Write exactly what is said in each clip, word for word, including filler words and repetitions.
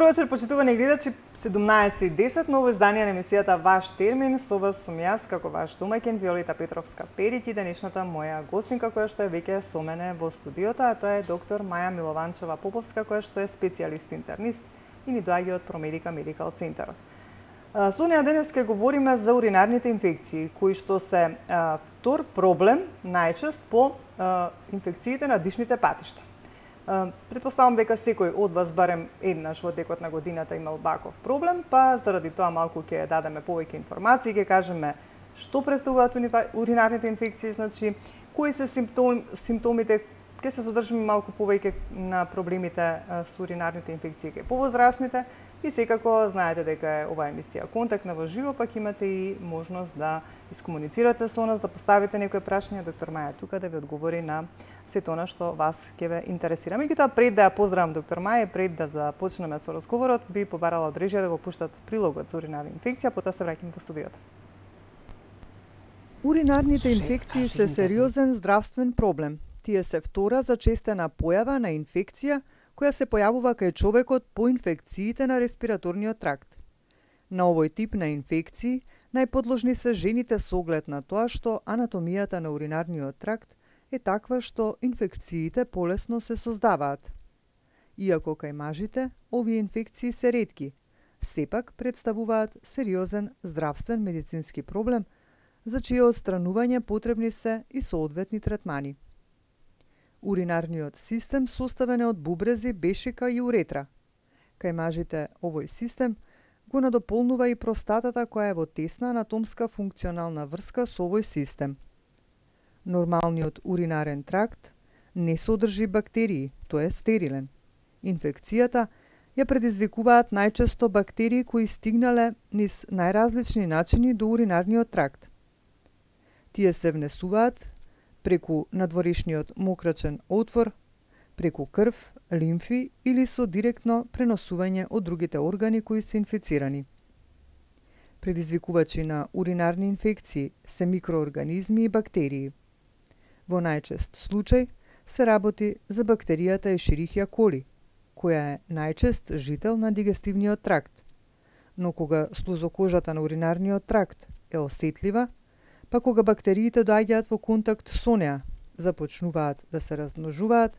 вечер, почитувани гледачи, седумнаесет и десет, ново издание на емисијата Ваш термин, со вас сум јас, како ваш домаќин, Виолета Петровска-Периќ, и денешната моја гостинка, која што е веќе со мене во студиото, а тоа е доктор Маја Милованчева-Поповска, која што е специјалист интернист и ни доаѓа од Промедика Медикал Центарот. Со неја денес ќе говориме за уринарните инфекции, кои што се а, втор проблем најчест по а, инфекциите на дишните патишта. Предпоставам дека секој од вас барем еднаш во текот на годината имал ваков проблем, па заради тоа малку ќе дадеме повеќе информации, ќе кажеме што представуваат уринарните инфекции, значи кои се симптом, симптомите, ќе се задржиме малку повеќе на проблемите со уринарните инфекции кај повозрасните и секако знаете дека е оваа емисија контактна во живо, пак имате и можност да искомуницирате со нас, да поставите некои прашања. Доктор Маја тука да ви одговори на сето она што вас ќе ве интересира. Меѓутоа, пред да ја поздравам доктор Маја, пред да започнеме со разговорот, би побарала од режија да го пуштат прилогот за уринарна инфекција, потоа се враќаме во студиото. Уринарните инфекции се сериозен здравствен проблем. Тие се втора зачестена појава на инфекција која се појавува кај човекот по инфекциите на респираторниот тракт. На овој тип на инфекции најподложни се жените со оглед на тоа што анатомијата на уринарниот тракт е таква што инфекциите полесно се создаваат. Иако кај мажите овие инфекции се ретки, сепак представуваат сериозен здравствен медицински проблем за чие отстранување потребни се и соодветни третмани. Уринарниот систем составен е од бубрези, бешика и уретра. Кај мажите овој систем го надополнува и простатата која е во тесна анатомска функционална врска со овој систем. Нормалниот уринарен тракт не содржи бактерии, тој е стерилен. Инфекцијата ја предизвикуваат најчесто бактерии кои стигнале низ најразлични начини до уринарниот тракт. Тие се внесуваат преку надворешниот мокрачен отвор, преку крв, лимфи или со директно преносување од другите органи кои се инфицирани. Предизвикувачи на уринарни инфекции се микроорганизми и бактерии. Во најчест случај се работи за бактеријата Ешерихија коли, која е најчест жител на дигестивниот тракт. Но кога слузокожата на уринарниот тракт е осетлива, па кога бактериите доаѓаат во контакт со неа, започнуваат да се размножуваат,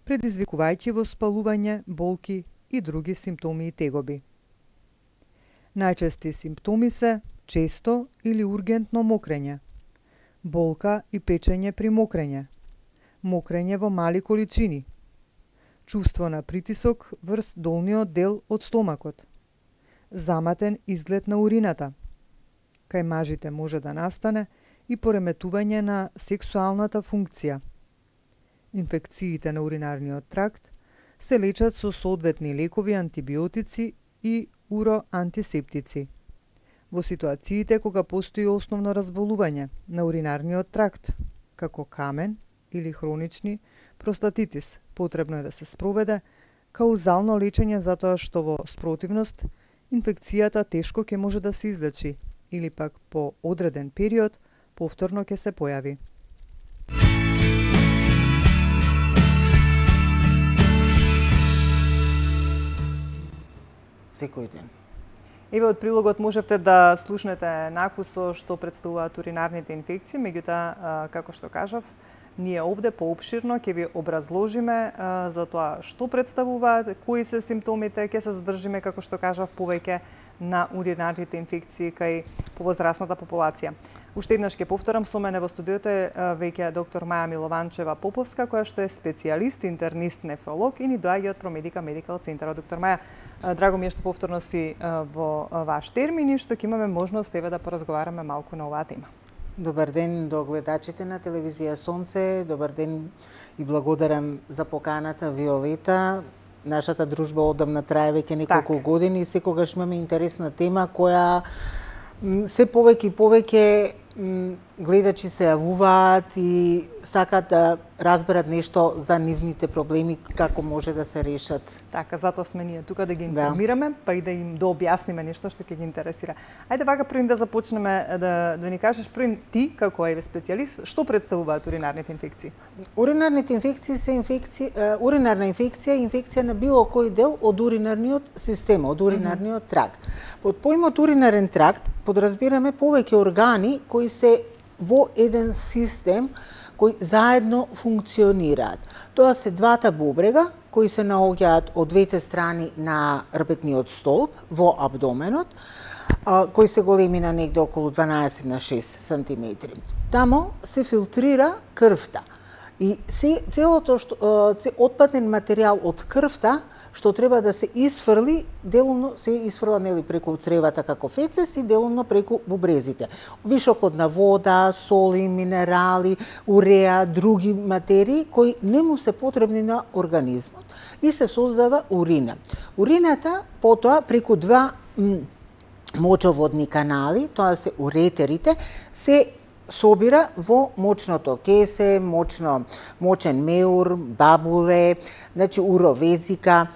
предизвикувајќи воспалување, болки и други симптоми и тегоби. Најчести симптоми се често или ургентно мокрење, болка и печење при мокрење, мокрење во мали количини, чувство на притисок врз долниот дел од стомакот, заматен изглед на урината. Кај мажите може да настане и пореметување на сексуалната функција. Инфекциите на уринарниот тракт се лечат со соодветни лекови, антибиотици и уроантисептици. Во ситуациите кога постои основно разболување на уринарниот тракт, како камен или хронични простатитис, потребно е да се спроведе каузално лечење затоа што во спротивност инфекцијата тешко ќе може да се излечи или пак по одреден период повторно ќе се појави. Секој ден. Еве од прилогот можевте да слушнете накусо што представуваат уринарните инфекции, меѓутоа, како што кажав, ние овде поопширно ќе ви образложиме а, за тоа што представуваат, кои се симптомите, ќе се задржиме, како што кажав, повеќе на уринарните инфекции кај повозрасната популација. Уште еднаш ќе повторам, со мене во студиото е веќе доктор Маја Милованчева-Поповска, која што е специјалист, интернист, нефролог и ни доаѓа од Промедика Медикал Центарот. Доктор Маја, драго ми е што повторно си во ваш термин и што ќе имаме можност еве да поразговараме малку на оваа тема. Добар ден до гледачите на телевизија Сонце, добар ден и благодарам за поканата, Виолета. Нашата дружба одамна трае веќе неколку так. години и секогаш имаме интересна тема која се повеќе и повеќе гледачи се јавуваат и сакаат да разберат нешто за нивните проблеми, како може да се решат. Така, затоа сме ние тука да ги информираме, да. Па и да им да објасниме нешто што ќе ги интересира. Ајде вака првин да започнеме да да ни кажеш првин ти како еве специјалист, што представуваат уринарните инфекции? Уринарните инфекции се инфекции, уринарна инфекција е инфекција на било кој дел од уринарниот систем, од уринарниот тракт. Под поимот уринарен тракт подразбираме повеќе органи кои се во еден систем кои заедно функционираат. Тоа се двата бубрега кои се наоѓаат од двете страни на рбетниот столб во абдоменот, кои се големи на негде околу дванаесет на шест сантиметри. Тамо се филтрира крвта. И се, целото што, отпаден материјал од крвта што треба да се исфрли, делумно се исфрла нели преку цревата како фецес и делумно преку бубрезите. Вишокот на вода, соли, минерали, уреа, други материи кои не му се потребни на организмот и се создава урина. Урината потоа преку два мочоводни канали, тоа се уретерите, се собира во мочното кесе, мочно, мочен меур, бабуле, значи уровезика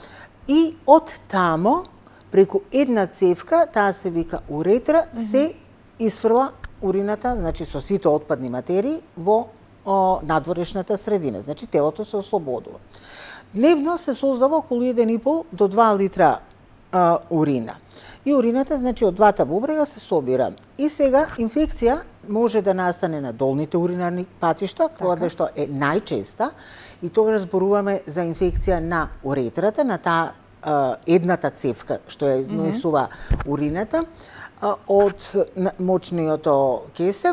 и од тамо преку една цевка, таа се вика уретра, mm -hmm. се исфрла урината, значи со сите отпадни материи во о, надворешната средина, значи телото се ослободува. Дневно се создава околу еден и пол до два литра а, урина. И урината, значи, од двата бубрега се собира. И сега инфекција може да настане на долните уринарни патишта, која така. Што е најчеста, и тогаш зборуваме за инфекција на уретрата, на таа едната цевка што е носува mm -hmm. урината а, од мочниот кесе,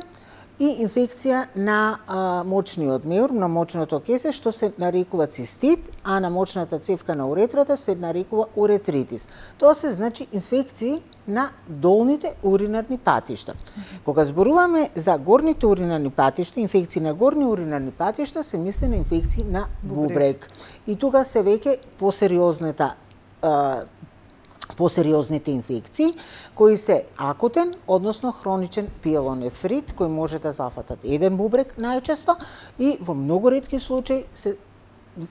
и инфекција на а, мочниот меур, на мочното кесе, што се нарекува цистит, а на мочната цевка на уретрата се нарекува уретритис. Тоа се значи инфекции на долните уринарни патишта. Кога зборуваме за горните уринарни патишта, инфекции на горни уринарни патишта, се мисли на инфекции на бубрек. И тука се веќе посериозната посериозните инфекции, кои се акутен, односно хроничен пиелонефрит, кој може да зафатат еден бубрек најчесто и во многу ретки случаи се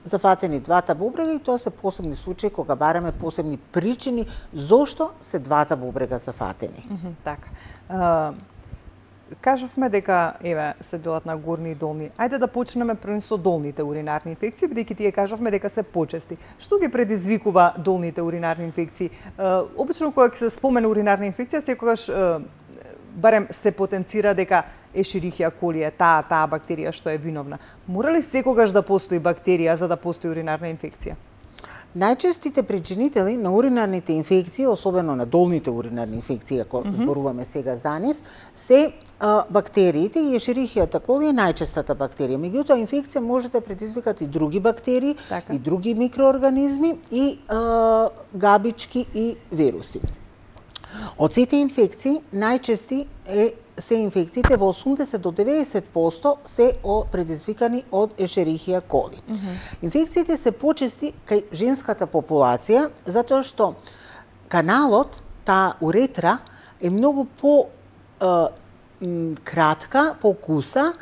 зафатени двата бубрега, и тоа се посебни случаи кога бараме посебни причини зошто се двата бубрега зафатени. Mm -hmm, така. Uh... Кажавме дека еве се делат на горни и долни. Ајде да почнеме прво со долните уринарни инфекции, бидејќи тие кажавме дека се почести. Што ги предизвикува долните уринарни инфекции? Е, обично кога се спомене уринарна инфекција, секогаш е, барем се потенцира дека Ешерихија коли е таа таа бактерија што е виновна. Мора ли секогаш да постои бактерија за да постои уринарна инфекција? Најчестите причинители на уринарните инфекции, особено на долните уринарни инфекции, ако mm -hmm. зборуваме сега за нив, се а, бактериите, и Ешерихијата коли е најчестата бактерија. Меѓутоа, инфекција може да предизвикат и други бактерии, така. И други микроорганизми, и а, габички и вируси. Од сите инфекции, најчести е се инфекциите, во осумдесет до деветдесет проценти се предизвикани од Ешерихија коли. Mm -hmm. Инфекциите се почести кај женската популација, затоа што каналот, таа уретра, е многу по е, кратка, по куса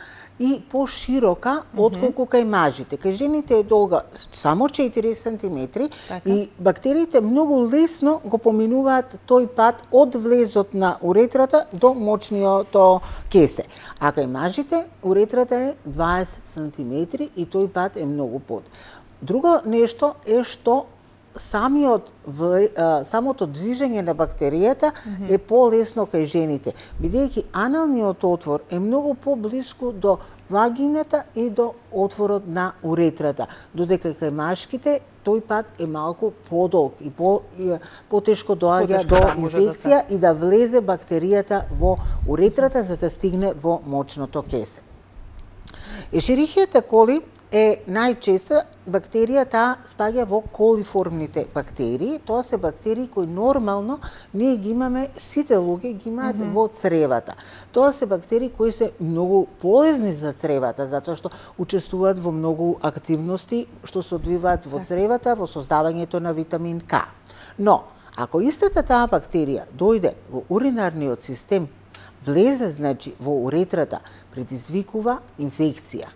и поширока mm -hmm. отколку кај мажите. Кај жените е долга само четири сантиметри, така. И бактериите многу лесно го поминуваат тој пат од влезот на уретрата до мочниот кесе. А кај мажите уретрата е дваесет сантиметри и тој пат е многу под. Друго нешто е што самиот самото движење на бактеријата mm -hmm. е полесно кај жените, бидејќи аналниот отвор е многу поблиску до вагината и до отворот на уретрата, додека кај машките тој пат е малку подолг и по и, потешко доаѓа до да, инфекција да и да влезе бактеријата во уретрата за да стигне во мочното кесе. Ешерихијата коли е најчеста бактерија, таа спаѓа во колиформните бактерии. Тоа се бактерии кои нормално ние ги имаме, сите луѓе ги имаат mm -hmm. во цревата. Тоа се бактерии кои се многу полезни за цревата, затоа што учествуваат во многу активности што се одвиваат во цревата, во создавањето на витамин К. Но, ако истата таа бактерија дојде во уринарниот систем, влезе, значи, во уретрата, предизвикува инфекција.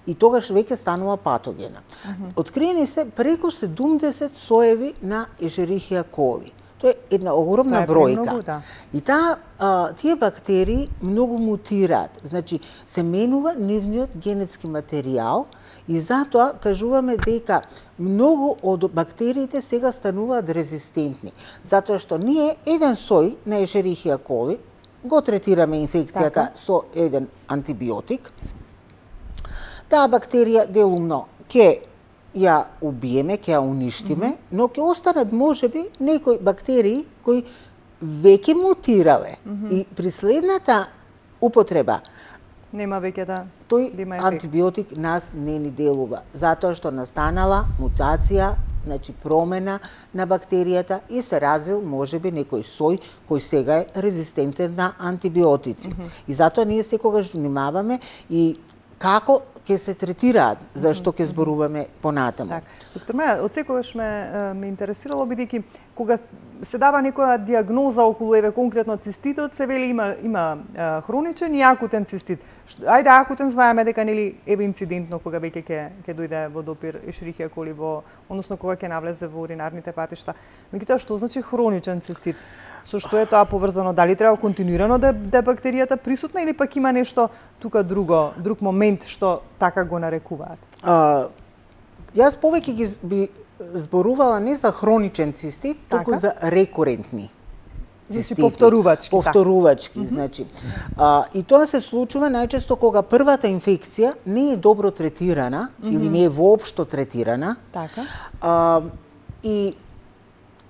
И тогаш веќе станува патогена. Uh -huh. Откриени се преку седумдесет соеви на Ешерихија коли. Тоа е една огромна бројка. Многу, да. И таа, а, тие бактерии многу мутираат. Значи, се менува нивниот генетски материјал и затоа кажуваме дека многу од бактериите сега стануваат резистентни. Затоа што ние еден сој на Ешерихија коли го третираме инфекцијата така со еден антибиотик. Таа бактерија делумно ќе ја убиеме, ќе ја уништиме, mm -hmm. но ќе останат можеби некои бактерии кои веќе мутирале. Mm -hmm. И при следната употреба нема веќе да тој да има антибиотик нас не ни делува, затоа што настанала мутација, значи промена на бактеријата и се развил можеби некој сој кој сега е резистентен на антибиотици. Mm -hmm. И затоа ние секогаш внимаваме и како ќе се третираат, зашто ќе зборуваме понатаму. Так. Доктор Маја, од секогаш ме, ме интересирало, бидејќи кога се дава некоја диагноза околу еве конкретно циститот, се вели има има а, хроничен и акутен цистит. Ајде акутен знаеме дека нели еве инцидентно кога веќе ќе ќе дојде во допир Ешерихија коли во, односно кога ќе навлезе во уринарните патишта. Меѓутоа што значи хроничен цистит? Со што е тоа поврзано? Дали треба континуирано да да бактеријата присутна или пак има нешто тука друго, друг момент што така го нарекуваат? А, јас повеќе ги би зборувала не за хроничен цистит, така? туку за рекурентни цистити. Значи повторувачки. Повторувачки, така. значи. А, и тоа се случува најчесто кога првата инфекција не е добро третирана mm -hmm. или не е воопшто третирана. Така. А, и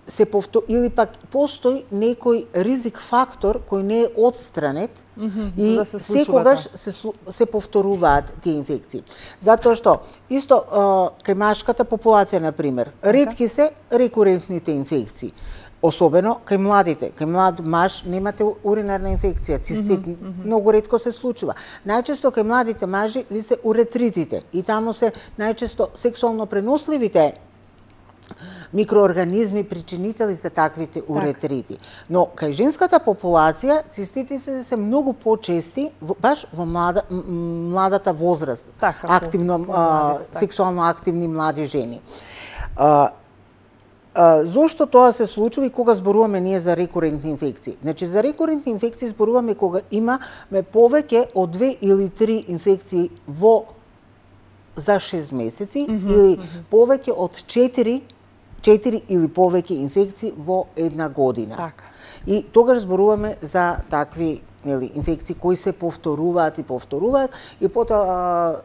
се повтор... или пак постои некој ризик фактор кој не е отстранет mm -hmm, и да се секогаш се, се повторуваат тие инфекции. Затоа што исто кај машката популација на пример, ретки се рекурентните инфекции. Особено кај младите. Кај млад маж немате уринарна инфекција, цистит, mm -hmm, многу ретко се случува. Најчесто кај младите мажи ви се уретритите и таму се најчесто сексуално преносливите микроорганизми причинители за таквите уретрити. Но кај женската популација циститите се многу почести баш во млада, младата возраст. Така, активно по, а, така. Сексуално активни млади жени. А, а, зошто тоа се случува и кога зборуваме ние за рекурентни инфекции? Значи за рекурентни инфекции зборуваме кога имаме повеќе од две или три инфекции во за шест месеци mm -hmm, или mm -hmm. повеќе од четири четири или повеќе инфекции во една година. Така. И тогаш зборуваме за такви нели инфекции кои се повторуваат и повторуваат и потоа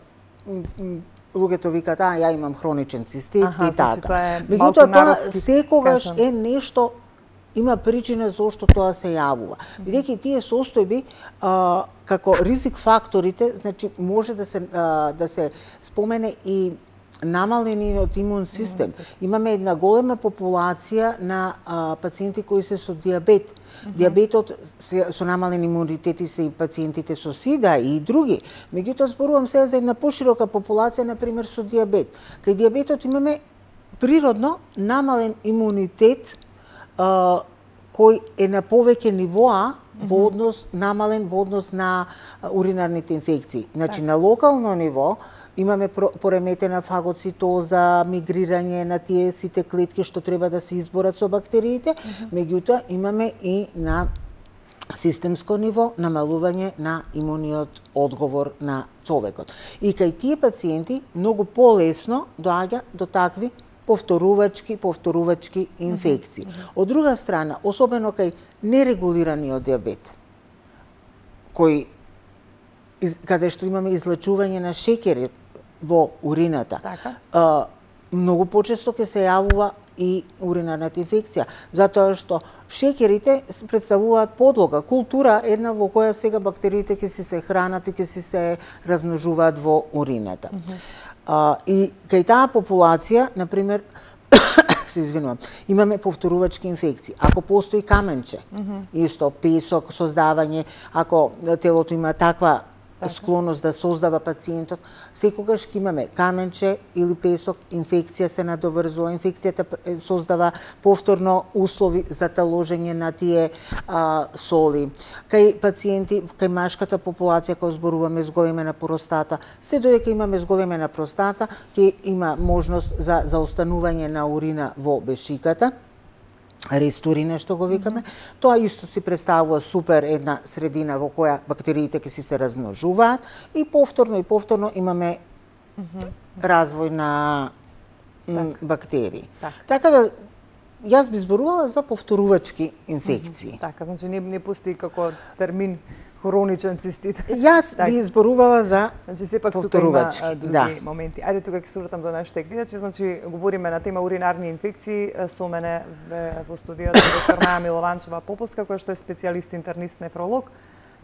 луѓето викаат, а ја имам хроничен цистит Аха, и така. Значи, меѓутоа тоа секогаш кажам. Е нешто, има причина зошто тоа се јавува. Бидејќи тие состојби а, како ризик факторите, значи може да се а, да се спомене и намалениот имун систем. Mm -hmm. Имаме една голема популација на а, пациенти кои се со диабет. Mm -hmm. Диабетот се, со намален имунитет и се и пациентите со сида и други. Меѓутоа зборувам сега за една поширока популација, на пример со диабет. Кај диабетот имаме природно намален имунитет а, кој е на повеќе нивоа во однос намален во однос на уринарните инфекции. Значи на локално ниво имаме пореметена фагоцитоза, мигрирање на тие сите клетки што треба да се изборат со бактериите, mm -hmm. меѓутоа имаме и на системско ниво намалување на имуниот одговор на човекот. И кај тие пациенти многу полесно доаѓа до такви повторувачки, повторувачки инфекции. Mm -hmm. Од друга страна, особено кај нерегулираниот диабет, кој каде што имаме излачување на шеќерот во урината, така. а, многу почесто ќе се јавува и уринарната инфекција, затоа што шеќерите представуваат подлога, култура една во која сега бактериите ќе си се хранат и ќе си се размножуваат во урината. Mm -hmm. а, и кај таа популација, на пример, се извинувам, имаме повторувачки инфекции. Ако постои каменче, mm -hmm. исто песок, создавање, ако телото има таква склоност да создава пациентот. Секогаш ќе имаме каменче или песок, инфекција се надоврзува, инфекцијата создава повторно услови за таложење на тие а, соли. Кај пациенти, кај машката популација, кога зборуваме зголемена простата, се додека имаме зголемена простата, ќе има можност за заостанување на урина во бешиката, рестурина што го викаме. Mm -hmm. Тоа исто си представува супер една средина во која бактериите ќе си се размножуваат и повторно и повторно имаме mm -hmm. развој на так. бактерии. Так. Така да јас би зборувала за повторувачки инфекции. Mm -hmm. Така, значи не, не постои како термин хроничен цистит. Јас так. би изборувала за значи сепак повторувачки. Тука има, други да. моменти. Ајде тука ќе се вратам до нашите гледачи, значи говориме на тема уринарни инфекции со мене во студиото доктор Маја Милованчева Поповска, која што е специјалист интернист нефролог.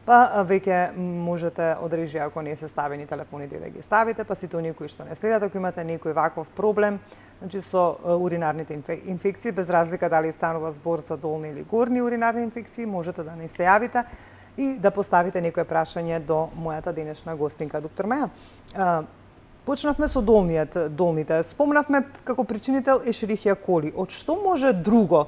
Па веќе можете од режија, ако не се ставени телефоните, да ги ставите, па сите оние кои што не следат, ако имате некој ваков проблем, значи со уринарните инфекции, без разлика дали станува збор за долни или горни уринарни инфекции, можете да не се јавите и да поставите некое прашање до мојата денешна гостинка. Доктор Маја, почнавме со долниот, долните. Спомнавме како причинител Ешерихија коли. Од што може друго,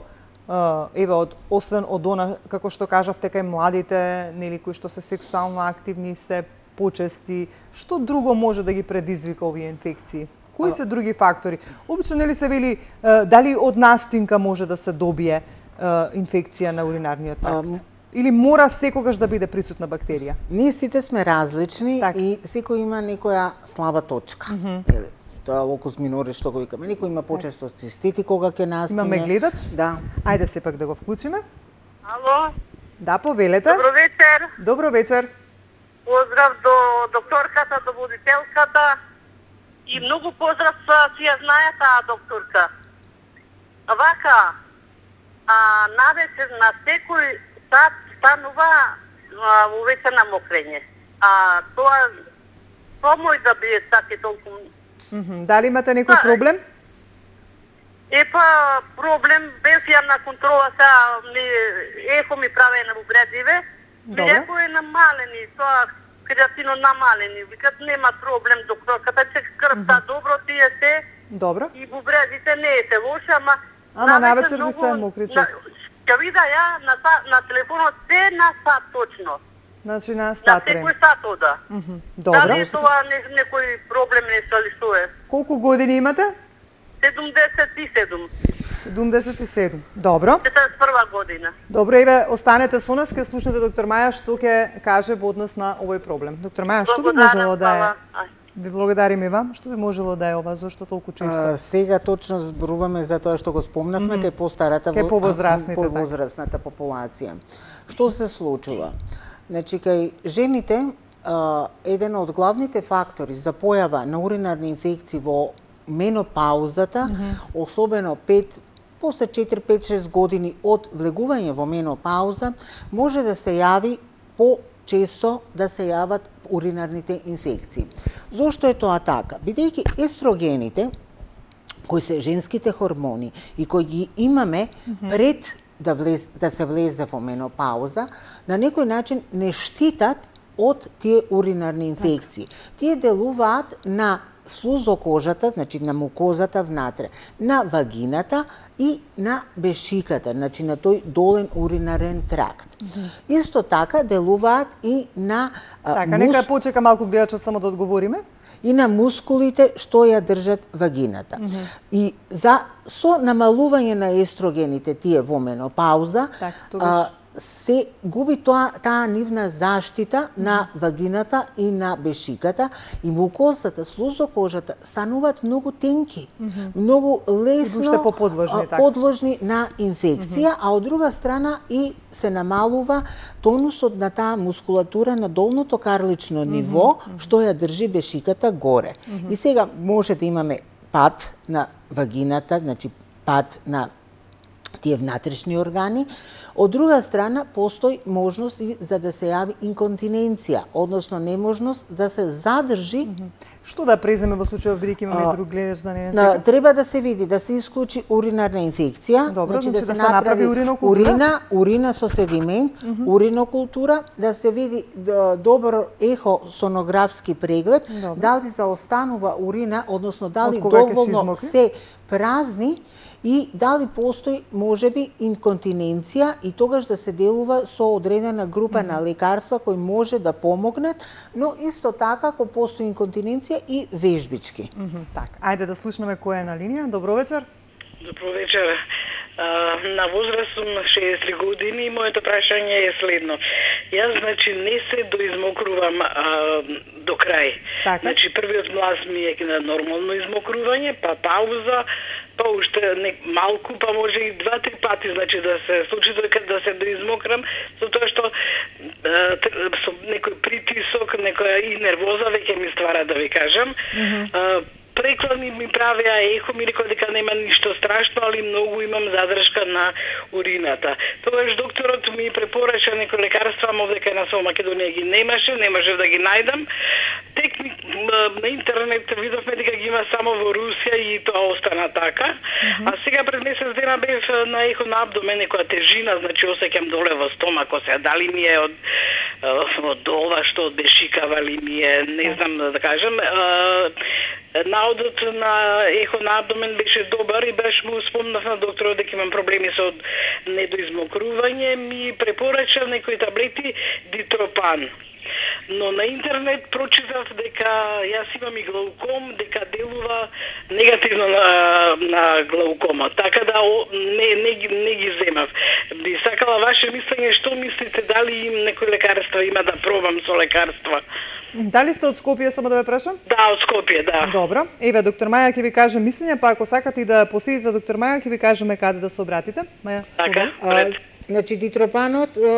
еве, од, освен од она, како што кажавте, кај младите, нели, кои што се сексуално активни, се почести, што друго може да ги предизвика овие инфекции? Кои се други фактори? Обично, нели се вели, дали од настинка може да се добие инфекција на уринарниот тракт? Или мора секогаш да биде присутна бактерија? Ние сите сме различни так. и секој има некоја слаба точка. Mm -hmm. Тоа е локус минорис што го викаме. Некој има почесто цистити кога ќе настине. Имаме гледач? Да. Ајде сепак да го вклучиме. Ало? Да, повелете. Добро вечер. Добро вечер. Поздрав до докторката, до водителката и многу поздрав си ја знае таа докторка. Вака, а, навечер на секој сат станува увечена мокрење. А тоа помој да биде таки толку. Mm -hmm. Дали имате некој да, проблем? Епа, проблем, без ја на контрола са, ми, ехо ми праве на убредиве, ми ехо е намалени, тоа креатино намалени, викат нема проблем докторката, че крвта mm -hmm. добро тие се, добро. И бубрезите не е се лоша, ама... Ама навечер ви се мокри често. Ќе вида ја на, на телефонот се на сат точно. Значи на сат време. На секој сат ода. Mm -hmm. Добро. Дали тоа не, некој проблем не се лисуе? Колку години имате? седумдесет и седум. седумдесет и седум. Добро. четиридесет и прва година. Добро, еве, останете со нас, ке слушнете доктор Маја што ќе каже во однос на овој проблем. Доктор Маја, што би можело да е? Ви благодарим и вам. Што би можело да е ова, зашто толку често? А, сега точно зборуваме за тоа што го спомнавме, mm -hmm. кај постарата, кај повозрастните, повозрастната популација. Што се случува? Значи, кај жените, а, еден од главните фактори за појава на уринарни инфекции во менопаузата, mm -hmm. особено пет, после четири, пет, шест години од влегување во менопауза, може да се јави по често да се јават уринарните инфекции. Зошто е тоа така? Бидејќи естрогените, кои се женските хормони и кои ги имаме mm -hmm. пред да, влез, да се влезе во менопауза, на некој начин не штитат од тие уринарни инфекции. Так. Тие делуваат на слузокожата, значи на мукозата внатре, на вагината и на бешиката, значи на тој долен уринарен тракт. Mm -hmm. Исто така делуваат и на Така, мус... нека почека малку гледачот само да одговориме. И на мускулите што ја држат вагината. Mm -hmm. И за со намалување на естрогените тие во менопауза, так, а, се губи тоа таа нивна заштита mm -hmm. на вагината и на бешиката и мукозата, слузокожата стануваат многу тенки, mm -hmm. многу лесно подложни, а, подложни на инфекција, mm -hmm. а од друга страна и се намалува тонусот на таа мускулатура на долното карлично ниво, mm -hmm. што ја држи бешиката горе. Mm -hmm. И сега може да имаме пад на вагината, значи пад на тие внатрешни органи. Од друга страна, постои можност и за да се јави инконтиненција, односно неможност да се задржи mm -hmm. Што да преземе во случајов бидејќи имаме друг гледач да не е? Треба да се види, да се исклучи уринарна инфекција, Добро, значи, значи да, да се се направи направи уринокултура? урина, урина со седимент, mm -hmm. уринокултура, да се види добро ехосонографски преглед, Добро. дали заостанува урина, односно дали Од кога ќе се доволно измокри? се празни и дали постои можеби инконтиненција и тогаш да се делува со одредена група mm -hmm. на лекарства кои може да помогнат, но исто така ако постои инконтиненција и вежбички. Mm -hmm. Так, ајде да слушнеме која е на линија. Добро вечер. Добро вечер. На возраст сум шеесет и три години и моето прашање е следно. Јас, значи, не се доизмокрувам а, до крај. Така. Значи, првиот млаз ми е на нормално измокрување, па пауза, па уште не, малку, па може и два-три пати, значи, да се случи дека да се доизмокрам, затоа што а, со некој притисок, некоја и нервоза веќе ми ствара, да ви кажам. Mm -hmm. Преклани ми правеа ехо, ми рекоа дека нема ништо страшно, али многу имам задршка на урината. Тогаш докторот ми препорача некои лекарства, ама дека на со Македонија ги немаше, не можев да ги најдам. Тек на интернет видовме дека ги има само во Русија и тоа остана така. Mm -hmm. А сега пред месец дена бев на ехо на абдомен, некоја тежина, значи осеќам доле во стомако се, дали ми е од од ова што од бешикава ли ми е, не знам да кажам. Наодот на ехо на абдомен беше добар и баш му спомнав на докторот дека имам проблеми со недоизмокрување, ми препорача некои таблети дитропан. Но на интернет прочитав дека јас имам и глауком, дека делува негативно на, на глаукома. Така да о, не, не, не ги земав. Би сакала ваше мислење, што мислите, дали им некои лекарства има да пробам со лекарства? Дали сте од Скопје, само да ве прашам? Да, од Скопје, да. Добро. Еве, доктор Маја ќе ви каже мислење, па ако сакате и да посетите доктор Маја, ќе ви кажеме каде да се обратите. Маја, така, а, значи, дитропанот е,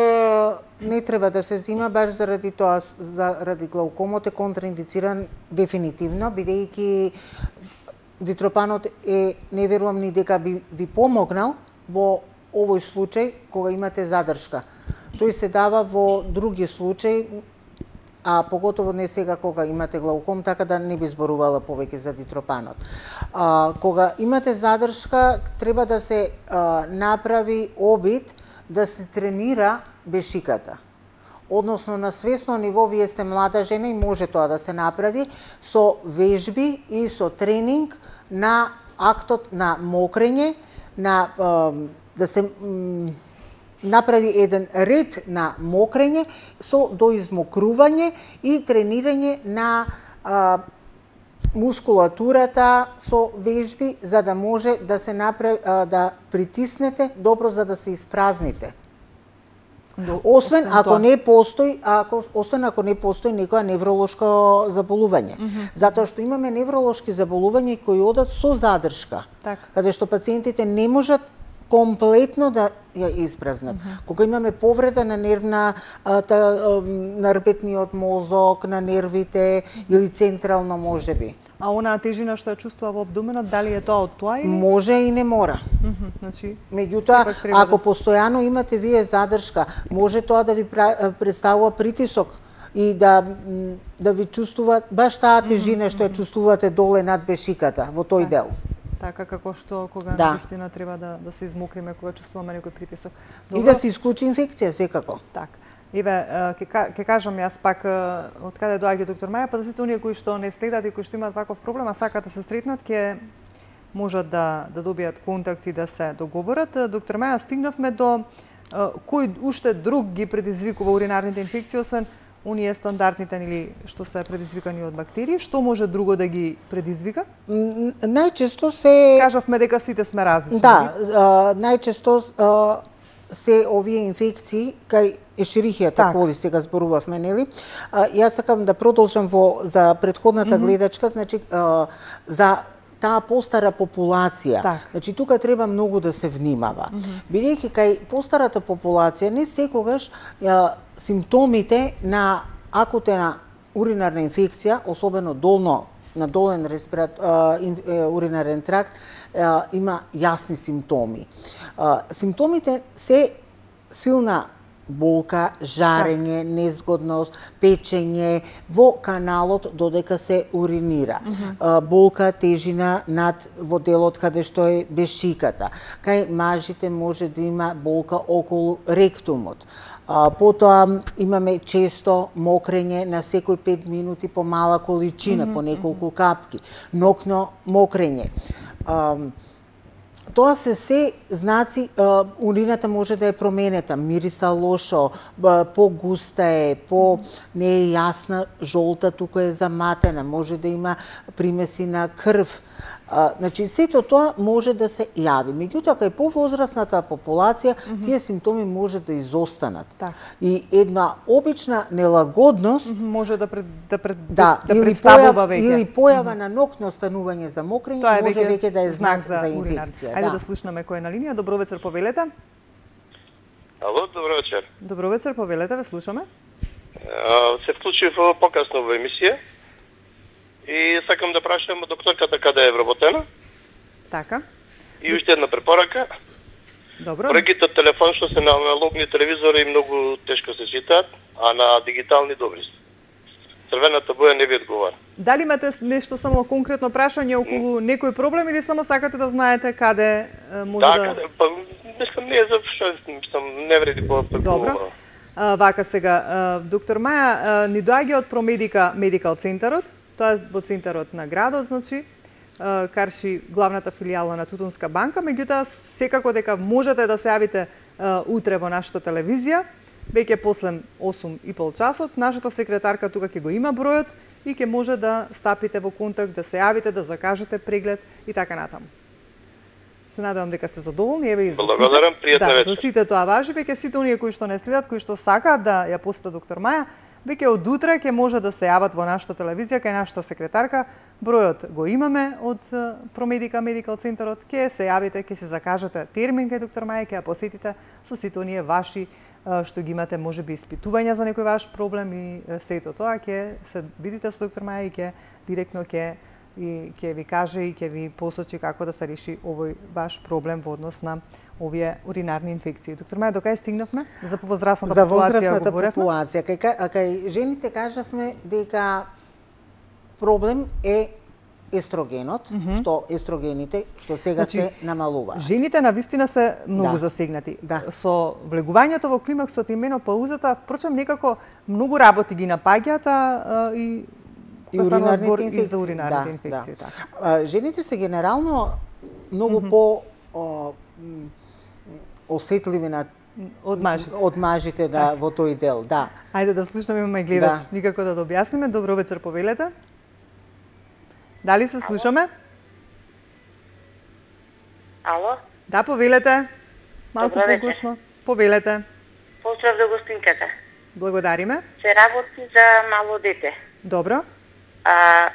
не треба да се зима баш заради тоа, заради глаукомот е контраиндициран дефинитивно, бидејќи дитропанот е, не верувам ни дека би ви помогнал во овој случај кога имате задршка. Тој се дава во други случаи, а поготово не сега кога имате глауком, така да не би зборувала повеќе за дитропанот. А, кога имате задршка, треба да се а, направи обид да се тренира бешиката. Односно, на свесно ниво, вие сте млада жена и може тоа да се направи со вежби и со тренинг на актот на мокрење, на а, да се направи еден ред на мокрење со доизмокрување и тренирање на а, мускулатурата со вежби за да може да се направи а, да притиснете добро за да се испразните. Освен ако не постои, ако освен ако не постои некоја невролошко заболување. Mm -hmm. Затоа што имаме невролошки заболувања кои одат со задршка. Так. Каде што пациентите не можат комплетно да ја испразнат. Mm -hmm. Кога имаме повреда на нервна, та, на рпетниот мозок, на нервите или централно можеби. А онаа тежина што ја чувствува во абдоменот, дали е тоа од тоа или? Може и не мора. Mm -hmm. Значи, меѓутоа, ако да постојано имате вие задршка, може тоа да ви представува притисок и да да ви чувствува баш таа тежина mm -hmm. што ја чувствувате доле над бешиката во тој дел. Така како што кога да. наистина треба да да се измокриме кога чувствуваме некој притисок. Добро. И да се исклучи инфекција секако. Така. Еве, ќе ќе кажам јас пак од каде доаѓа доктор Маја, па да сите оние кои што не следат и кои што имаат ваков проблем, а сакаат да се сретнат, ќе можат да да добијат контакт и да се договорат. Доктор Маја, стигнавме до кој уште друг ги предизвикува уринарните инфекции, освен оние стандардните или што се предизвикани од бактерии, што може друго да ги предизвика? Најчесто се кажавме дека сите сме различни. Да, а, најчесто а, се овие инфекции кај ешерихијата так. Коли сега зборувавме, нели? А, јас сакам да продолжам во за претходната mm -hmm. гледачка, значи а, за таа постара популација. Так. Значи тука треба многу да се внимава. Mm -hmm. Бидејќи кај постарата популација не секогаш а, симптомите на акутена уринарна инфекција, особено долно на долен респират, а, ин, е, уринарен тракт, а, има јасни симптоми. А, симптомите се силна болка, жарење, так. незгодност, печење во каналот додека се уринира. Mm -hmm. Болка, тежина над во делот каде што е бешиката. Кај мажите може да има болка околу ректумот. А, потоа имаме често мокрење на секој пет минути по мала количина, mm -hmm. по неколку капки. Нокно мокрење. А, Тоа се се знаци, а, урината може да е променета, мириса лошо, по-густа е, по не е јасна, жолта, тука е заматена, може да има примеси на крв. А, значи, сето тоа може да се јави. Меѓутоа, кај повозрасната популација, mm -hmm. тие симптоми може да изостанат. Так. И една обична нелагодност mm -hmm. може да пред, да пред, да, да или представува појава, веќе. Или појава mm -hmm. на нокно станување за мокрење, тоа може веќе, веќе да е знак, знак за, за инфекција. инфекција. Ајде да. да слушнаме кој е на линија. Добро вечер, повелете. Ало, добро вечер. Добро вечер, повелете, ве слушаме. А, се вклучив покасно во емисија и сакам да прашам докторката каде е вработена. Така. И уште една препорака. Добро. Пораките од телефон што се на аналогни телевизори многу тешко се читаат, а на дигитални добри се. Црвената боја не ви одговара. Дали имате нешто само конкретно прашање околу mm. некој проблем или само сакате да знаете каде може да... да... Да, па, мислам, не е за што, мислам, не вреди по Добро. А, вака сега, а, доктор Маја, а, ни доаѓа од Промедика Медикал центарот, тоа е во центарот на градот, значи, а, карши главната филијала на Тутунска банка, меѓутоа секако дека можете да се јавите а, утре во нашата телевизија, веќе после осум и пол часот, нашата секретарка тука ќе го има бројот и ќе може да стапите во контакт, да се јавите, да закажете преглед и така натаму. Се надевам дека сте задоволни, еве и за сите. Благодарам, пријатна да, вечер. За сите тоа важи, веќе сите оние кои што не следат, кои што сакаат да ја посетат доктор Маја, веќе од утре ќе може да се јават во нашата телевизија кај нашата секретарка. Бројот го имаме од Промедика Медикал центарот, ќе се јавите, ќе се закажете термин кај доктор Маја, ќе ја посетите со сите оние ваши што ги имате можеби испитувања за некој ваш проблем и сето тоа ќе се видите со доктор Маја и ќе директно ќе и ќе ви каже и ќе ви посочи како да се реши овој ваш проблем во однос на овие уринарни инфекции. Доктор Маја, докај стигнавме за возрастната за популација? За возрастната популација. Кај, а кај жените кажавме дека проблем е естрогенот, mm -hmm. што естрогените што сега значи, се намалуваат. Жените навистина се многу да. засегнати. Да. Со влегувањето во климаксот и менопаузата, впрочем некако многу работи ги напаѓаат и и уринарните инфекции. И за уринарните да, инфекции. Да. А, жените се генерално многу mm -hmm. по о, осетливи на од мажите. Од мажите да во тој дел, да. Ајде да слушнеме, имаме гледач. Да. Никако да да објасниме. Добро вечер, повелете. Дали се слушаме? Ало? Да, повелете. Малку погласно. Повелете. Поздрав до гостинката. Благодариме. Се работи за мало дете. Добро. А,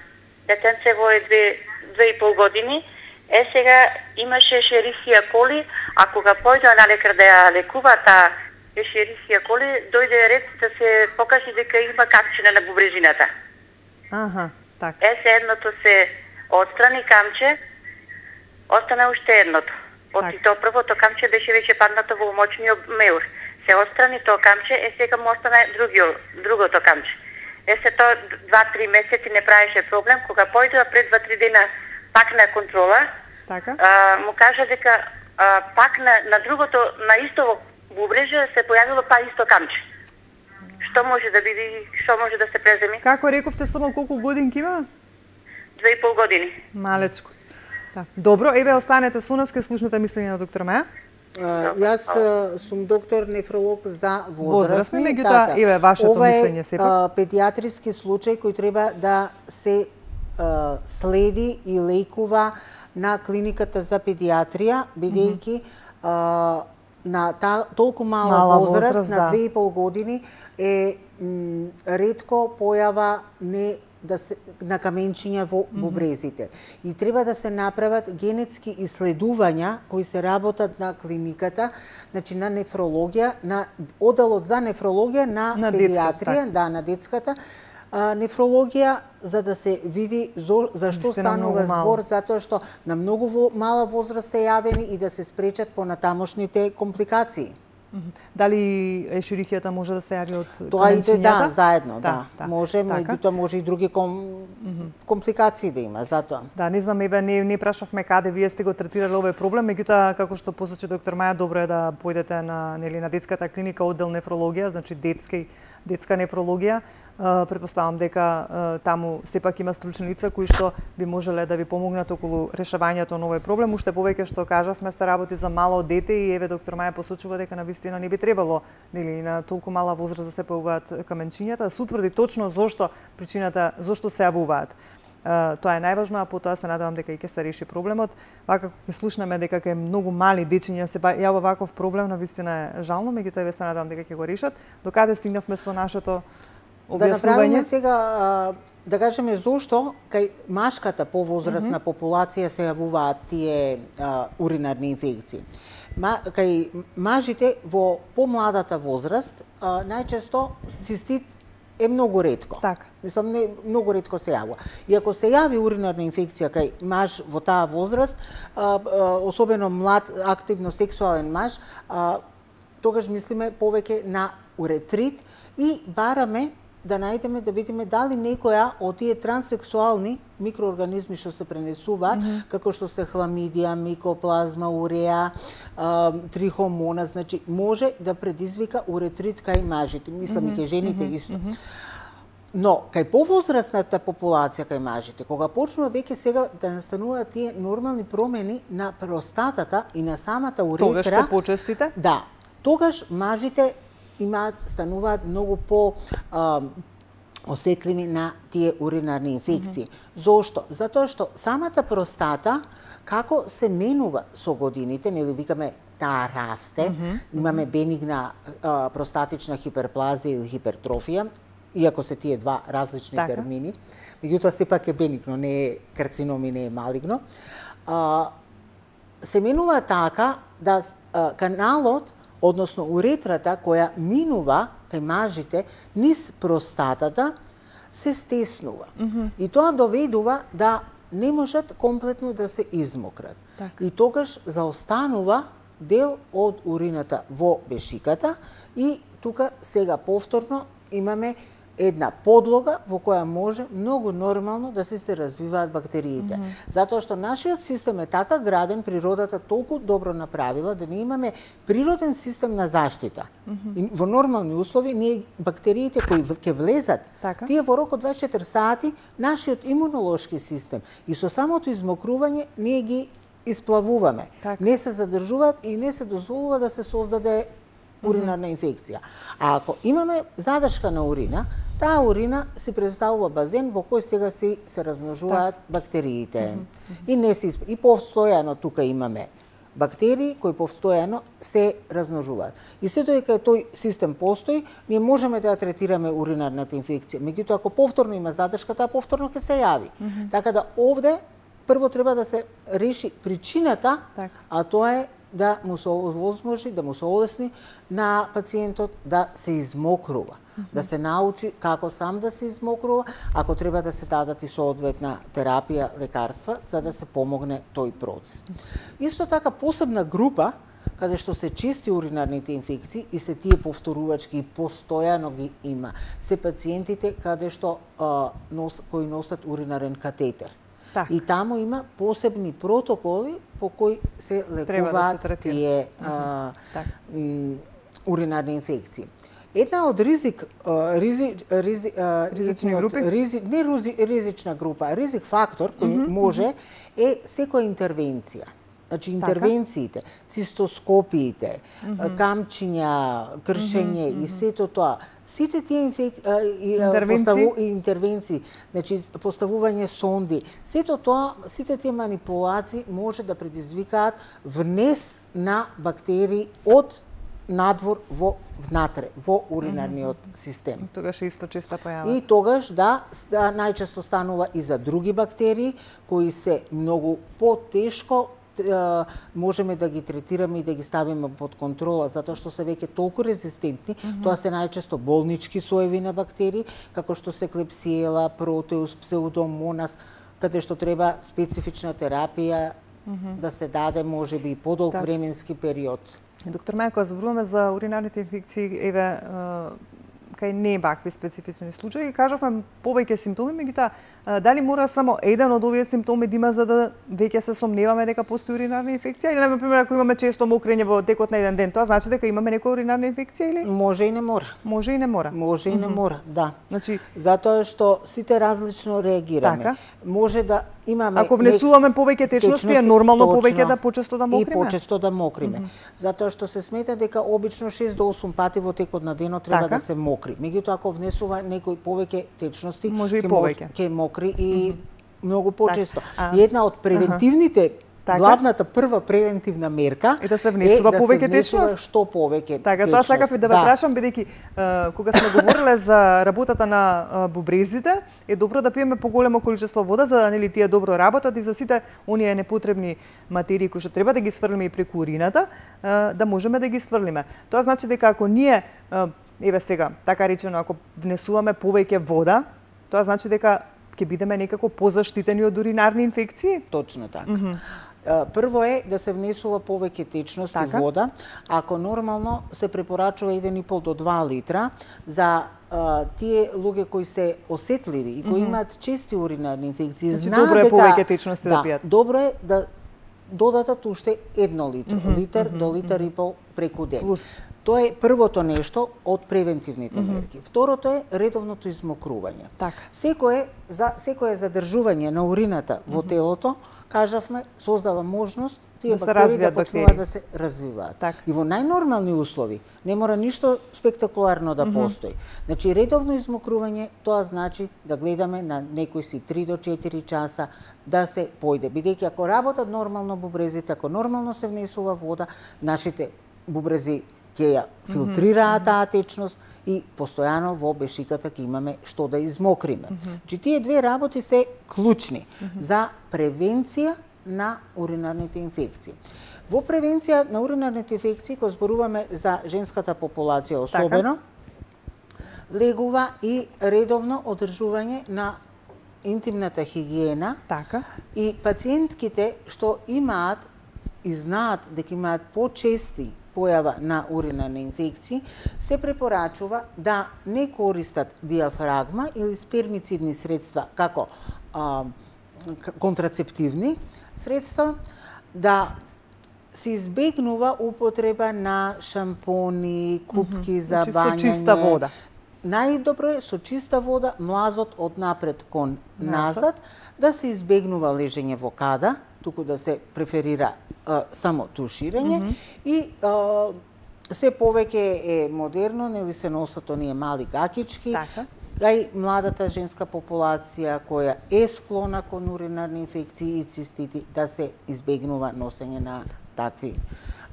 детенце во е две, две и пол години. Е, сега имаше шерихија коли, а кога појде на лекар да ја лекува таа шерихија коли, дојде ред да се покаже дека има камчина на бубрежината. Аха, така. Е, се едното се отстрани камче, остана уште едното. Оти тоа првото камче беше веќе паднато во мочниот меур. Се отстрани тоа камче, е сега му остана другио, другото камче. Е се тоа два-три месеци не правеше проблем, кога појдува пред два-три дена пак на контрола, така? А, му кажа дека а, пак на, на другото, на исто бубреже се појавило па исто камче. Што може да биде, што може да се преземи? Како рековте, само колку годинки има? Две и пол години. Малечко. Да. Добро, еве останете со нас, ке слушнете мислење на доктор Маја. Uh, јас uh, сум доктор нефролог за возрастни, меѓутоа така, еве вашето ова е, мислење сепак. Ова е педиатриски случај кој треба да се uh, следи и лекува на клиниката за педиатрија, бидејќи mm -hmm. uh, на та, толку мала, мала возраст, возраст, на да. две и пол години е м, ретко појава не да се на каменчиња во бубрезите. Mm -hmm. И треба да се направат генетски исследувања кои се работат на клиниката, значи на нефрологија, на оделот за нефрологија на, на педиатрија, детска, да, на детската а, нефрологија, за да се види зо, зашто станува збор, затоа што на многу во, мала возраст се јавени и да се спречат понатамошните компликации. Дали ешерихијата може да се јави од Тоа иде, каменчињата? да, заедно, Да, да. да. Може, Така. меѓутоа може и други ком... компликации да има, затоа. Да, не знам, еве не не прашавме каде вие сте го третирале овој проблем, меѓутоа како што посочи доктор Маја, добро е да појдете на нели на детската клиника оддел нефрологија, значи детски детска нефрологија. Претпоставам дека таму сепак има стручни лица кои што би можеле да ви помогнат околу решавањето на овој проблем. Уште повеќе што кажавме, се работи за мало дете и еве доктор Маја посочува дека навистина не би требало нели на толку мала возраст да се појавуваат каменчињата, да се утврди точно зошто причината, зошто се јавуваат. Тоа е најважно, а потоа се надевам дека и ќе се реши проблемот. Вака ќе слушнеме дека кај многу мали дечиња се јава ваков проблем, навистина е жално, меѓутоа еве се надевам дека ќе го решат. Докаде стигнавме со нашето објаснување? Да направиме сега, да кажеме зошто кај машката повозрастна mm -hmm. популација се јавуваат тие а, уринарни инфекции. Ма, кај мажите во помладата возраст а, најчесто цистит е многу ретко. Така. Мислам, не, многу ретко се јавува. И ако се јави уринарна инфекција кај маж во таа возраст, а, а, особено млад, активно сексуален маж, а, тогаш мислиме повеќе на уретрит и бараме да најдеме, да видиме дали некоја од тие транссексуални микроорганизми што се пренесуваат, mm -hmm. како што се хламидија, микоплазма, уреа, а, трихомона, значи може да предизвика уретрит кај мажите, мислам mm -hmm. и кај жените mm -hmm. исто. Mm -hmm. Но кај повозрастната популација кај мажите, кога почнува веќе сега да настануваат тие нормални промени на простатата и на самата уретра, тогаш се почестите? Да, тогаш мажите имаат, стануваат многу по а, осетливи на тие уринарни инфекции. Mm -hmm. Зошто? Затоа што самата простата, како се менува со годините, нели викаме таа расте, mm -hmm. имаме бенигна а, простатична хиперплазија или хипертрофија, иако се тие два различни така. термини, меѓутоа сепак е бенигно, не е карцином и не е малигно. А, се менува така да а, каналот, односно уретрата која минува кај мажите низ простатата се стеснува. Mm -hmm. И тоа доведува да не можат комплетно да се измократ. Так. И тогаш заостанува дел од урината во бешиката и тука сега повторно имаме една подлога во која може многу нормално да се се развиваат бактериите. Mm -hmm. Затоа што нашиот систем е така граден, природата толку добро направила да не имаме природен систем на заштита. Mm -hmm. И во нормални услови ние бактериите кои ќе влезат, така? Тие во рок од дваесет и четири сати нашиот имунолошки систем и со самото измокрување ние ги исплавуваме. Така. Не се задржуваат и не се дозволува да се создаде уринарна инфекција. А ако имаме задршка на урина, таа урина се представува базен во кој сега се се размножуваат так. бактериите. Mm -hmm. И не се и постојано тука имаме бактерии кои постојано се размножуваат. И се додека тој систем постои, ние можеме да ја третираме уринарната инфекција. Меѓутоа ако повторно има задршка, таа повторно ќе се јави. Mm -hmm. Така да овде прво треба да се реши причината, так. а тоа е да му се овозможи, да му се олесни на пациентот да се измокрува, mm -hmm. да се научи како сам да се измокрува, ако треба да се дадат и соодветна терапија, лекарства, за да се помогне тој процес. Исто така посебна група каде што се чести уринарните инфекции и се тие повторувачки и постојано ги има, се пациентите каде што а, нос, кои носат уринарен катетер. Так. И таму има посебни протоколи по кои се лекуваат да тие а, так. уринарни инфекции. Една од ризик, ризи, ризи, ризични групи? Ризи, не рузи, ризична група, ризик фактор кој mm -hmm. може е секоја интервенција. Значи интервенциите, цистоскопиите, mm -hmm. камчиња, кршење mm -hmm. и сето тоа, сите тие инфек... интервенции? Поставу... интервенции, значи поставување сонди, сето тоа, сите тие манипулации може да предизвикаат внес на бактерии од надвор во внатре, во уринарниот mm -hmm. систем. Тогаш исто често појава. И тогаш да, да најчесто станува и за други бактерии кои се многу потешко можеме да ги третираме и да ги ставиме под контрола, затоа што се веќе толку резистентни, mm -hmm. тоа се најчесто болнички соеви на бактерии, како што се клепсиела, протеус, псеудомонас, каде што треба специфична терапија mm -hmm. да се даде можеби и подолг так. временски период. Доктор Маја, кога зборуваме за уринарните инфекции, еве кај не вакви специфични случаи, кажавме повеќе симптоми, меѓутоа дали мора само еден од овие симптоми да има за да веќе се сомневаме дека постои уринарна инфекција, или на пример ако имаме често мокрење во текот на еден ден, тоа значи дека имаме некоја уринарна инфекција или? Може и не мора. Може и не мора. Може и не мора, да. Значи, затоа што сите различно реагираме. Така. Може да имаме ако внесуваме повеќе течности, е нормално повеќе да почесто да мокриме. И почесто да мокриме. Mm -hmm. Затоа што се смета дека обично шест до осум пати во текот на денот треба така да се мокри. Меѓутоа ако внесува некој повеќе течности, може и повеќе. Ќе мокри и mm -hmm. многу почесто. Так. И една од превентивните Така? Главната прва превентивна мерка е да се внесува е повеќе да течност. Што повеќе така, тоа сакав и да ве прашам, бидејќи кога сме говореле за работата на бубрезите, е добро да пиеме поголемо количество вода за да нели тие добро работат и за сите оние непотребни материи кои што треба да ги сврлиме и преку урината, да можеме да ги сврлиме. Тоа значи дека ако ние еве сега, така речено, ако внесуваме повеќе вода, тоа значи дека ќе бидеме некако позаштитени од уринарни инфекции? Точно така. Mm -hmm. Прво е да се внесува повеќе течност и вода. Ако нормално се препорачува еден и пол до два литра за а, тие луѓе кои се осетливи и кои mm -hmm. имаат чести уринарни инфекции, значи, знаат добро е дека повеќе течност да, да пијат. Добро е да додадат уште едно литро, mm -hmm. литар mm -hmm. до литар и пол преку ден. Плюс. Тоа е првото нешто од превентивните mm -hmm. мерки. Второто е редовното измокрување. Така. Секое за секое задржување на урината во телото, кажавме, создава можност тие да бактерии да почнуваат да се развиваат. Так. И во најнормални услови не мора ништо спектакуларно да mm -hmm. постои. Значи редовно измокрување, тоа значи да гледаме на некои си три до четири часа да се појде. Бидејќи ако работат нормално бубрезите, ако нормално се внесува вода, нашите бубрези ќе ја филтрираат таа течност и постојано во бешиката ќе имаме што да измокриме. Mm -hmm. Че тие две работи се клучни mm -hmm. за превенција на уринарните инфекции. Во превенција на уринарните инфекции, кога зборуваме за женската популација особено, така, влегува и редовно одржување на интимната хигиена. Така. И пациентките што имаат и знаат дека имаат почести појава на уринарни инфекции, се препорачува да не користат диафрагма или спермицидни средства како а, контрацептивни средства, да се избегнува употреба на шампони, купки mm -hmm. за бањање. Со чиста вода. Најдобро е со чиста вода, млазот од напред кон назад, да се избегнува лежење во када, туку да се преферира а, само туширање mm -hmm. и а, се повеќе е модерно, нели се носат оние мали гакички, така, кај младата женска популација која е склона кон уринарни инфекции и цистити, да се избегнува носење на такви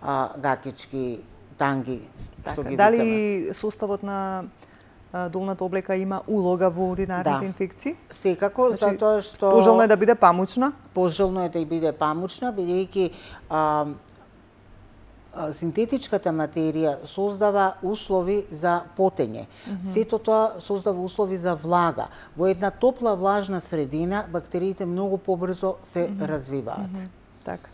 а, гакички, танги, така, што ги дали викаме. суставот на долната облека има улога во уринарните да. инфекции? Секако, значи, затоа што пожелно е да биде памучна. Пожелно е да биде памучна, бидејќи а, а, синтетичката материја создава услови за потење. Mm -hmm. Сето тоа создава услови за влага. Во една топла влажна средина бактериите многу побрзо се mm -hmm. развиваат. Mm -hmm. Така.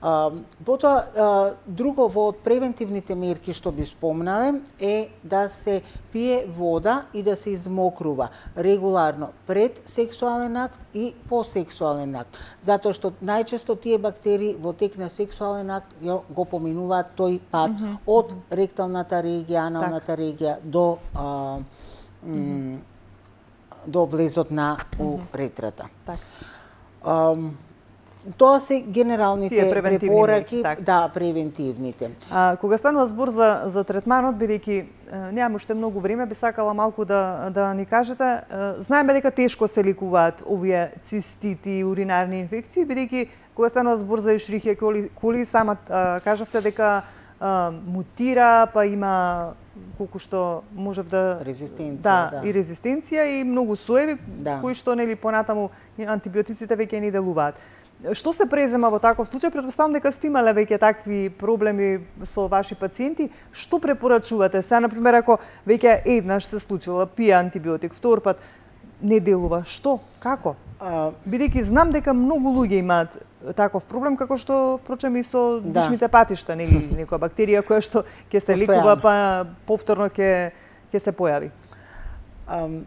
А, потоа, а, друго во од превентивните мерки што би спомнале е да се пие вода и да се измокрува регуларно пред сексуален акт и по сексуален акт. Затоа што најчесто тие бактерии во тек на сексуален акт го поминуваат тој пат mm -hmm. од ректалната регија, аналната так. регија до а, м, mm -hmm. до влезот на уретрата. Так. А, Тоа се генералните препораки, так. да, превентивните. А, кога станува збор за, за третманот, бидејќи немам уште многу време, би сакала малку да, да ни кажете. Знаеме дека тешко се ликуваат овие цистити, уринарни инфекции, бидејќи кога станува збор за ешрихија коли, коли сама а, кажавте дека а, мутира, па има колку што можев да резистенција, да, да. и резистенција и многу соеви да. кои што нели понатаму антибиотиците веќе не делуваат. Што се презема во таков случај? Претпоставам дека сте имале веќе такви проблеми со ваши пациенти. Што препорачувате? Сега, например, ако веќе еднаш се случило, пие антибиотик, втор пат, не делува. Што? Како? А, Бидејќи знам дека многу луѓе имаат таков проблем, како што впрочем и со Да. дишните патишта, нели, некоја бактерија која што ќе се лекува, Постојано. па повторно ќе ќе се појави. Ам,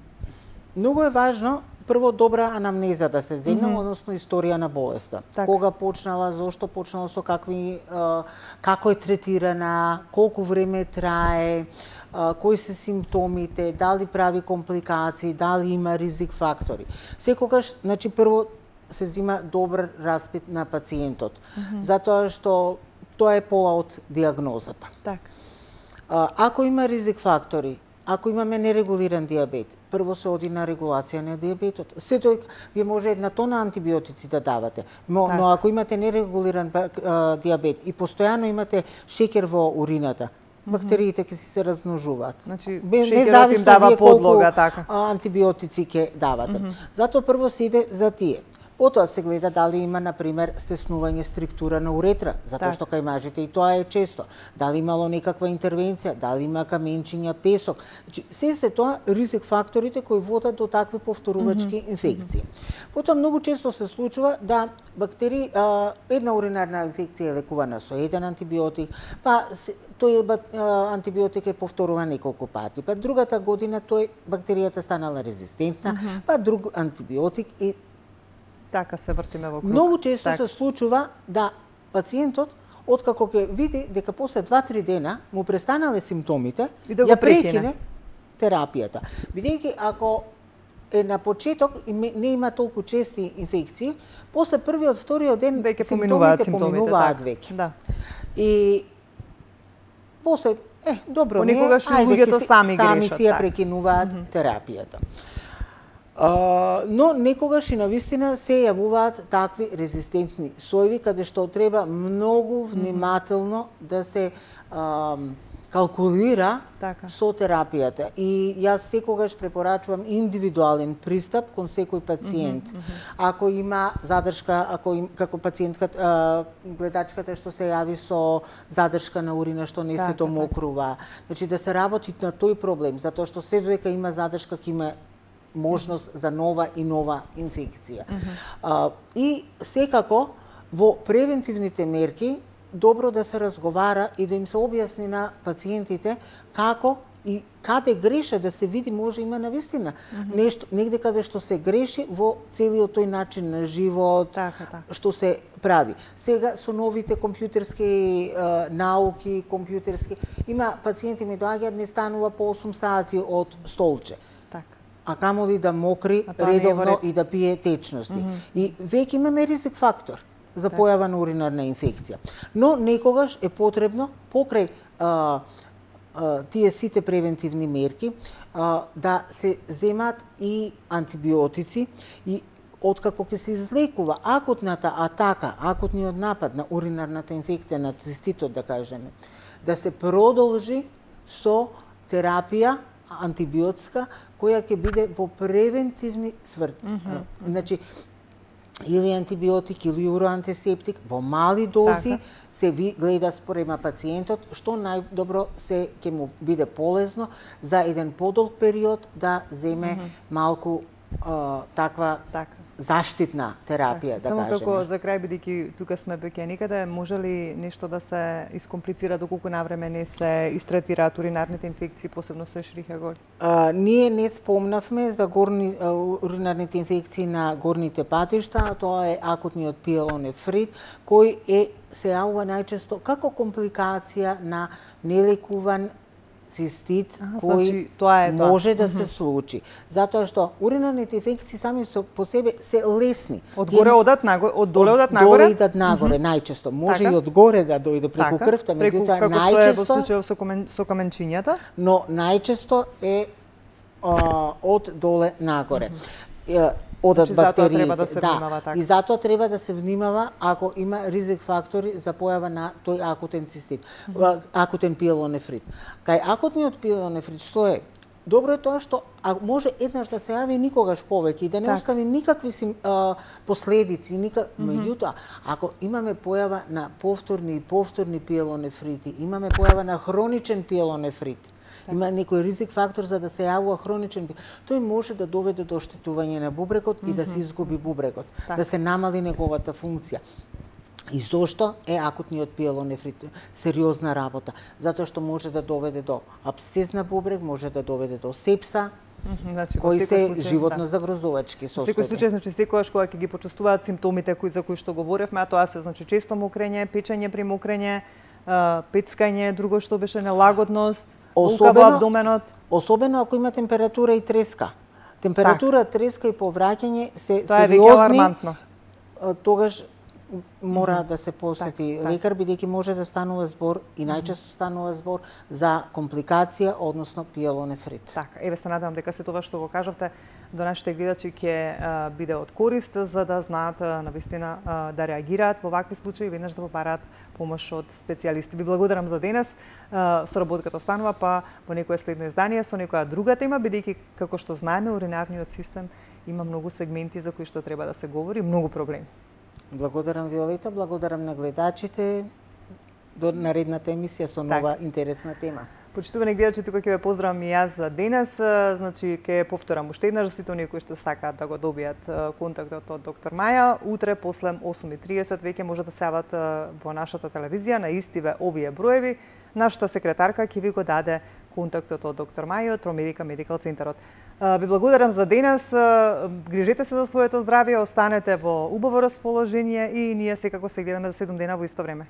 многу е важно прво добра анамнеза да се земне, mm -hmm. односно историја на болеста. Така. Кога почнала, зошто почнала, со какви а, како е третирана, колку време трае, а, кои се симптомите, дали прави компликации, дали има ризик фактори. Секогаш, значи прво се зема добар распит на пациентот, mm -hmm. затоа што тоа е пола од дијагнозата. Така. А, ако има ризик фактори, ако имаме нерегулиран дијабет, прво се оди на регулација на дијабетот. Сето вие може една тона антибиотици да давате, но, Так. но ако имате нерегулиран а, дијабет и постојано имате шеќер во урината, бактериите ќе си се размножуваат. Значи, Бе- шеќерот им независно дава вие колку, подлога, така. а, антибиотици ќе давате. Затоа прво се иде за тие. Потоа се гледа дали има, например, стеснување структура на уретра, затоа Так. што кај мажите и тоа е често. Дали имало некаква интервенција, дали има каменчиња, песок. Значи, се се тоа ризик факторите кои водат до такви повторувачки mm -hmm. инфекции. Потоа многу често се случува да бактерии, а, една уринарна инфекција е лекувана со еден антибиотик, па се, тој бак- а, антибиотик е повторуван неколку пати, па другата година тој бактеријата станала резистентна, mm -hmm. па друг антибиотик и Така се вртиме во круг. многу често Така. се случува да пациентот, откако ќе види дека после два-три дена му престанале симптомите, И да го ја прекине. прекине терапијата. Бидејќи ако е на почеток и ме- не има толку чести инфекции, после првиот, вториот ден Веќе симптомите поминуваат симптомите. поминуваат така. веќе. Да. И после, е, добро не е, Понекогаш и ајде, луѓето ќе си- сами сами грешат, си ја така. прекинуваат mm -hmm. терапијата. А, но некогаш и навистина се јавуваат такви резистентни сојви каде што треба многу внимателно да се а, калкулира Така. со терапијата. И јас секогаш препорачувам индивидуален пристап кон секој пациент. Mm -hmm. Ако има задршка, ако им, како пациентката, а, гледачката што се јави со задршка на урина што не Така, се домокрува, значи да се работи на тој проблем, затоа што се додека има задршка ќе има можност за нова и нова инфекција. Mm -hmm. а, и секако во превентивните мерки добро да се разговара и да им се објасни на пациентите како и каде греше, да се види може има навистина mm -hmm. нешто негде каде што се греши во целиот тој начин на живот, Така, така. што се прави. Сега со новите компјутерски е, науки, компјутерски, има пациенти ми доаѓаат не станува по осум сати од столче, Така. а камоли да мокри А тоа не е во редовно ред. и да пие течности. Mm -hmm. И веќе имаме ризик фактор за појава на уринарна инфекција. Но некогаш е потребно покрај а, а, тие сите превентивни мерки а, да се земат и антибиотици и откако ќе се излекува акутната атака, акутниот напад на уринарната инфекција, на циститот да кажеме, да се продолжи со терапија антибиотска која ќе биде во превентивни сврти. Mm -hmm. Значи, или антибиотик или уроантисептик во мали дози Така. се ви гледа спорема пациентот што најдобро се ќе му биде полезно за еден подолг период да земе mm -hmm. малку а, таква Така. заштитна терапија, да Само кажеме. како за крај, бидејќи тука сме веќе никаде, може ли нешто да се искомплицира доколку навреме не се истретираат уринарните инфекции, посебно со Ешерихија гори? А, ние не спомнавме за горни, а, уринарните инфекции на горните патишта, а тоа е акутниот пиелонефрит, кој е се јавува најчесто како компликација на нелекуван цистит Аха, кој значи, тоа е тоа. може да се случи. Затоа што уринарните инфекции сами со, по себе се лесни. Одгоре одат нагоре, од доле одат Од доле нагоре? идат нагоре, најчесто. Може Така. и одгоре да дојде преку Така, крвта, преку, меѓутоа како што е во најчесто, случајот со, комен, со каменчињата. но најчесто е а, од доле нагоре. Е, Одат Значи, затоа бактериите. треба да се внимава така. И затоа треба да се внимава ако има ризик фактори за појава на тој акутен цистит, mm -hmm. акутен пиелонефрит. Кај акутниот пиелонефрит што е? Добро е тоа што а може еднаш да се јави никогаш повеќе и да не Так. остави никакви сим, а, последици, никак... mm -hmm. Меѓутоа, ако имаме појава на повторни и повторни пиелонефрити, имаме појава на хроничен пиелонефрит, има некој ризик фактор за да се јавува хроничен, тој може да доведе до оштетување на бубрегот mm -hmm. и да се изгуби бубрегот, так. да се намали неговата функција. И зошто е акутниот пиелонефрит сериозна работа? Затоа што може да доведе до абсцес на бубрег, може да доведе до сепса, Mm -hmm, значи, кои се случај, животно да. загрозувачки состојби. Во секој случај, значи секогаш кога ќе ги почувствуваат симптомите кои за кои што говоревме, а тоа се значи често мокрење, печење при мокрење, пецкање, друго што беше нелагодност, болка во абдоменот. Особено ако има температура и треска. Температура, так. треска и повраќање се тоа сериозни. Тоа е веќе алармантно. Тогаш мора mm -hmm. да се посети так, лекар, бидејќи може да станува збор и најчесто станува збор за компликација, односно пиелонефрит. Така, еве се надевам дека се тоа што го кажавте до нашите гледачи ќе биде од корист за да знаат навистина да реагираат во вакви случаи и веднаш да побараат помош од специјалисти. Ви благодарам за денес. Соработката останува па во некое следно издание со некоја друга тема, бидејќи како што знаеме уринарниот систем има многу сегменти за кои што треба да се говори, многу проблеми. Благодарам Виолета, благодарам на гледачите до наредната емисија со нова так. интересна тема. Почитувани гледачи, тука ќе ве поздравам и јас за денес. Значи ќе повторам уште еднаш за сите оние кои што сакаат да го добијат контактот од доктор Маја. Утре после осум и триесет веќе може да се јават во нашата телевизија на истиве овие броеви. Нашата секретарка ќе ви го даде контактот од доктор Маја од Промедика Медикал Центарот. Ви благодарам за денес. Грижете се за своето здравје, останете во убаво расположение и ние секако се гледаме за седум дена во исто време.